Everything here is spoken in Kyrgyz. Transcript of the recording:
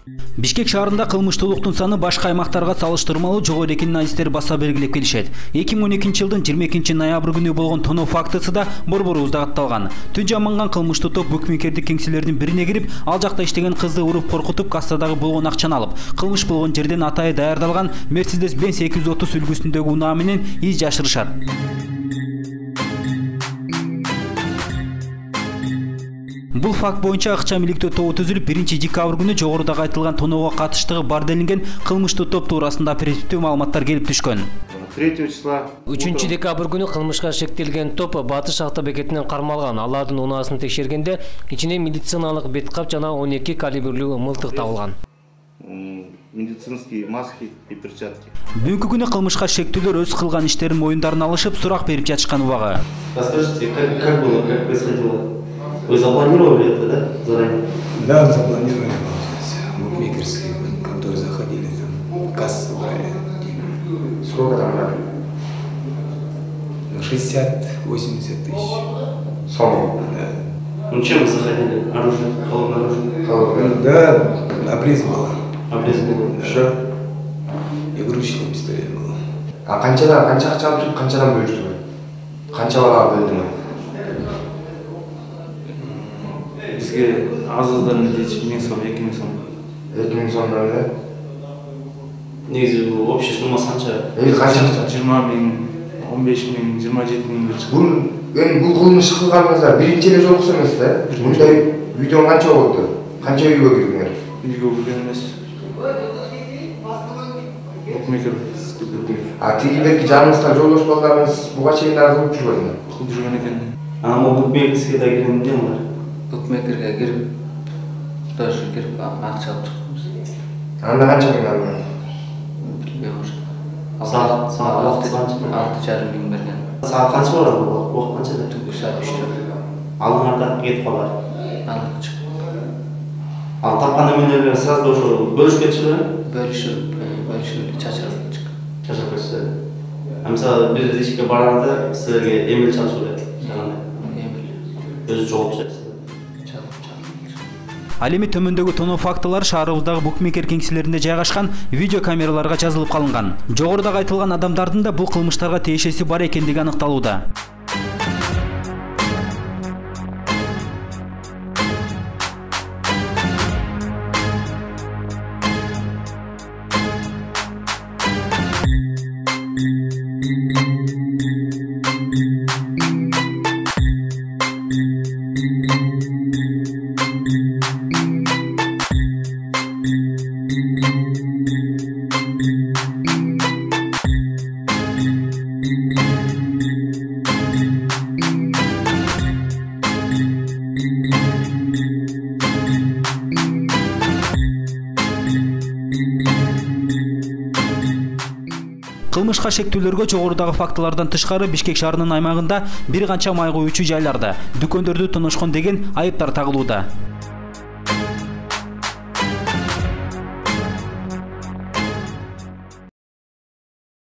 Бишкек шаарында кылмыштуулуктун саны башка аймактарга салыштырмалуу жогору экенин адистер баса белгилеп келишет. 2012 жылдын 22 ноябрь күнү болгон тоноо фактысы да борборубузда катталган. Түн жаманган кылмыштуу топ букмекердик кеңселердин бирине кирип, ал жакта иштеген кызды уруп коркутуп, кассадагы болгон акчаны алып, кылмыш болгон жерден атайы даярдалган Mercedes-Benz 830 үлгүсүндөгү унаа менен из жашырышат. Бул факт боюнча акча иликтөө тобу түзүлүп, 1 декабрь күнү жогорудагы айтылган тоноого катыштыгы бар делинген кылмыштуу топ туурасында оперативдүү маалыматтар келип түшкөн. 3 декабрь күнү кылмышка шектелген топ Батыш автобекетинен кармалган. Алардын унаасын текшергенде ичинен медициналык бет кап жана 12 калибрлүү мылтык табылган. Медицинские маски и перчатки. Бүгүнкү күнү кылмышка шектүүлөр өз кылган иштерин моюндарын алышып, сурак берип жатышкан убагы. Расскажите, как было, как происходило? Вы запланировали это, да, заранее? Да, запланировали. Букмекерские, которые заходили, там, кассы брали. Сколько там брали? 60-80 тысяч. Сомов? Да. Ну чем вы заходили? Оружие? Холодное оружие? Холодное? Да, обрез было. Обрез был? Еще? Игрушечный пистолет был. А канча акча алып, канчадан бөлүштүңөр? Канча бала бөлдүңөр? Бизге азыздан деч 1000 сом, 2000 сом. 2000 сом да? Негизи общий суммасы канча? Канча? 20 000, 15 000, 27 000. Бул кылмыш кылганыңызда биринчи эле жолкусу эмес да? Мындай видео канча болду? Канча үйгө кирдиңер? Үйгө кирген эмес. Букмекер. А тигилерге жаныңызда жолдош балдарыңыз буга чейин дагы кылып жүрбөдүңүр? Кылып жүргөн экен. Ама букмекерге да кирген эмне бар? Букмекерге кирип, тоже кирип акча алып чыкканбыз. Анда канча миң алдың? Билбейм уже. Саат 6,5 миң берген. Саат канча барат бул? Убакыт канчада? Түнкү саат 3-тө. Алдыңарда кетип калар. Алып чык. Ал тапкан эмелерди сразу ошо бөлүшүп кетишеби? Бөлүшүп чачырып чык. Чачырып кетишти. Мисалы бир ишке барганда силерге эмел чалышып эле. Эмел. Өзү жооп чыкты. Ал эми төмөндөгү тоноо фактылары шаарыбыздагы букмекер кеңселеринде жайгашкан видео камераларга жазылып калынган. Жогорудагы айтылган адамдардын да бул кылмыштарга тиешеси бар экендиги аныкталууда. Кылмышка шектүүлөргө жогорудагы фактылардан тышкары Бишкек шаарынын аймагында бир канча май коюучу жайларда, дүкөндөрдү тоношкон деген айыптар тагылууда.